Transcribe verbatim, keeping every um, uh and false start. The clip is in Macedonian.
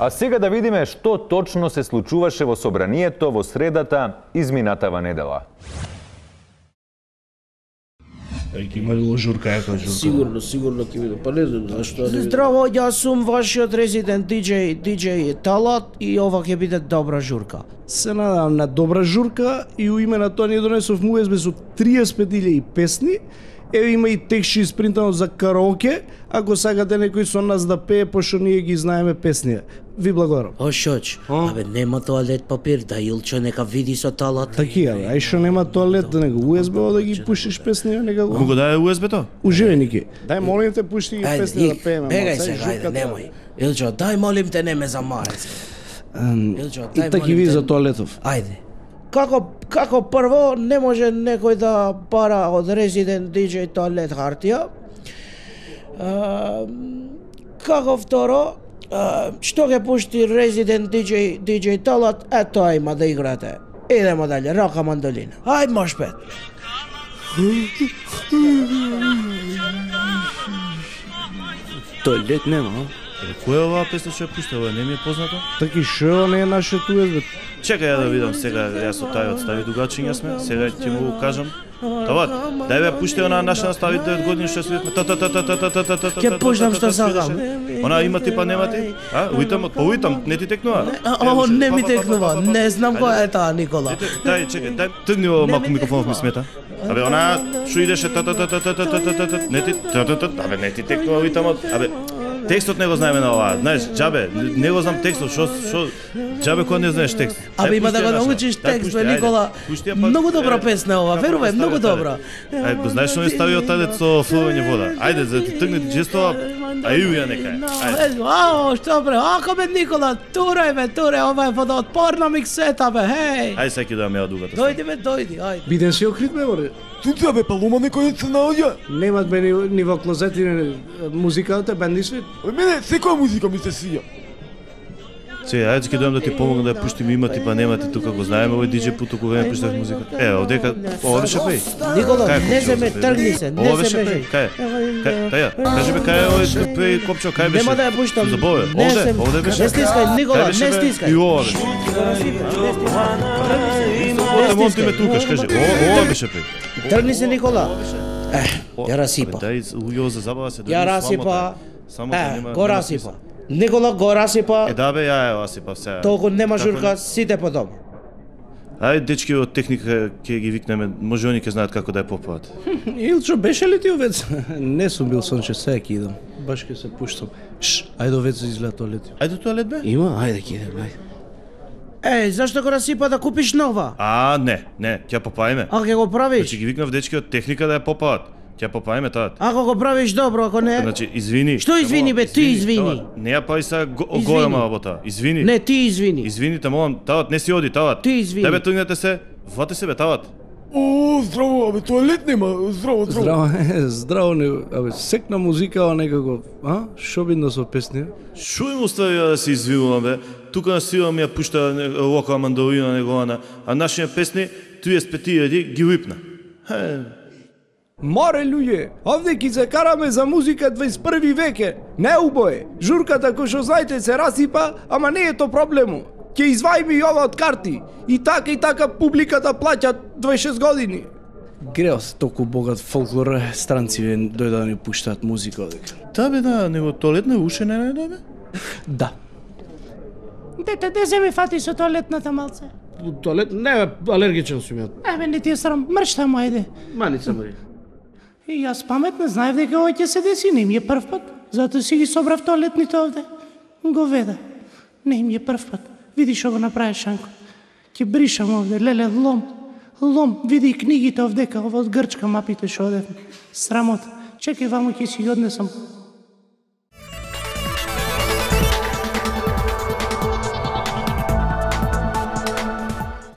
А сега да видиме што точно се случуваше во собранието во средата изминатава недела. Ќе има ли журка, јака журка? Сигурно, сигурно ќе биде. Па не знам зашто да не. Здраво, јас сум вашиот резидент диџеј, диџеј Талат и ова ќе биде добра журка. Се надевам на добра журка и у име на тоа ни донесов му ес бе со триесет пет илјади песни. Еве има и текст испринтано за караоке, ако сакате некој со нас да пее, пошто ние ги знаеме песни. Ви благодарам. О, шоч, абе нема тоалет папир, да Илчо нека види со Талат. Таки е, ај што нема тоалет, да него у ес бе да ги пуштиш песни, нека го. Му го даде у ес бе-то? Уживе, Ники. Дај молим те, пушти ги песни да пееме. Бегај сега, ајде, немој. Илчо, дај молим те, не ме замарај сега. Илчо, И таки ви за тоалетов. Ајде. Како како прво не може некој да пара од резидент диџеј тоалет хартија. Како второ, што ќе пушти резидент диџеј диџеј Талат, е тоа има да играте. Идемо дале, рака мандолина. Ајде мош пет. Тоалет нема, Која е оваа песна што ја пушта, ова не ми е познато? таки шо не е нашето у ес бе. Чекај ја да видам сега, јас со тај одстави дугачиња сме, сега ќе му кажам. Тават, дај бе пушти она наша настави девет години што свидетме. Та та та та та та та та та. Ќе пуштам што сакам. Она има ти па нема ти? А, уитам, по уитам, не ти текнува? О, не ми текнува, не знам која е таа Никола. Дај, чекај, дај тргни ово малку микрофонов ми смета. Абе, она што идеше та та та та та та та та та, не ти та та та, абе не ти текнува уитамот. Абе, текстот не го знаеме на оваа. Знаеш, џабе, не го знам текстот, што што џабе кога не знаеш текст. Абе има да го научиш текст, бе Никола. Многу добра песна ова, верувај, многу добра. Ајде, го знаеш што ми ставио тадец со флување вода. Ајде, за да ти тргне джестова, а и ја нека. Ајде. Ао, што бре, ако бе Никола, турај бе, туре, ова е водоотпорна миксета бе, хеј. Ајде сега ќе да ја дугата. Дојди бе, дојди, ајде. Биден си окрит бе, боре. Тука бе, палума некој се наоѓа. Немат бе ни, ни во клозети ни музиката, бенди свит. Мене секоја музика ми се свија. Сега, ајде ќе дојам да ти помогнам да ја пуштим, има ти па нема ти, тука го знаеме овој диџеј пут околу време пуштав музика. Е, овдека, ова беше пеј. Никола, не се ме тргни се, Ова не се беше ме. пеј. Кај? Кај? Таја, кажи бе кај е овој пеј копчо, кај беше? Нема да ја пуштам. Забове, Не овде, се- овде беше. Не стискај, Никола, Кај беше, не бе? стискај. И ова беше. Овде монти ме tukаш, кажи. Ова, ова беше пеј. Тргни се, Никола. Е, ја расипа. Дај, ујо за забава се. Ја расипа. Само да Е, нема. го расипа. Никола го расипа. Е, да бе, ја ја расипав сега. Толку нема Како журка, не? сите по дома. Ајде, дечки од техника ќе ги викнеме, може они ќе знаат како да ја попават. Илчо, беше ли ти овец? Не сум бил сонче, сега ќе идам. Баш ќе се пуштам. Шш, ајде овец изгледа тоалет. Ајде тоалет бе? Има? Ајде ќе идем, ајде. Еј, зашто го расипа да купиш нова? А, не, не, ќе ја попаеме. А ќе го правиш? Значи ги викнав дечки од техника да ја попават. Ќе ја попаеме таа. Ако го правиш добро, ако не... Значи, извини. Што извини, бе, ти извини. Тават, не ја пај сега го- Извини. голема работа. Извини. Не, ти извини. Извини, те молам, тават, не си оди, тават. Ти извини. Дај бе, тргнете се, вати се бе, тават. О, здраво, абе, тоалет нема. Здраво, здраво. Здраво, е, здраво, не, абе, секна музика, а некако, а? Шо бидно со песни? Шо им остави ја да се извинувам, бе? Тука на сила ми ја пушта не- лока мандолина негована, а нашите песни, триесет пет илјади ги випна. Е, Море луѓе, овде ќе се караме за музика дваесет и први веке. Не убое. Журката кој што знаете се расипа, ама не е то проблему. Ќе извајме и ова од карти. И така и така публиката плаќа дваесет и шест години. Грео се толку богат фолклор, странци дојде да ни пуштаат музика одека. да бе, да, него тоалет не уше не најде, бе? Да. Дете, де се ми фати со тоалетната малце? Тоалет, не, алергичен сум ја. Еве, не ти е срам, мршта му, ајде. Маница Мари. И јас паметна знаев дека ова ќе се деси, не ми е прв пат. Затоа си ги собрав тоалетните овде. Го веда. Не ми е прв пат. Види што го направи Шанко. Ќе бришам овде, леле, лом. Лом, види и книгите овдека, ова од Грчка мапите што одевме. Срамот. Чекај, вамо ќе си ги однесам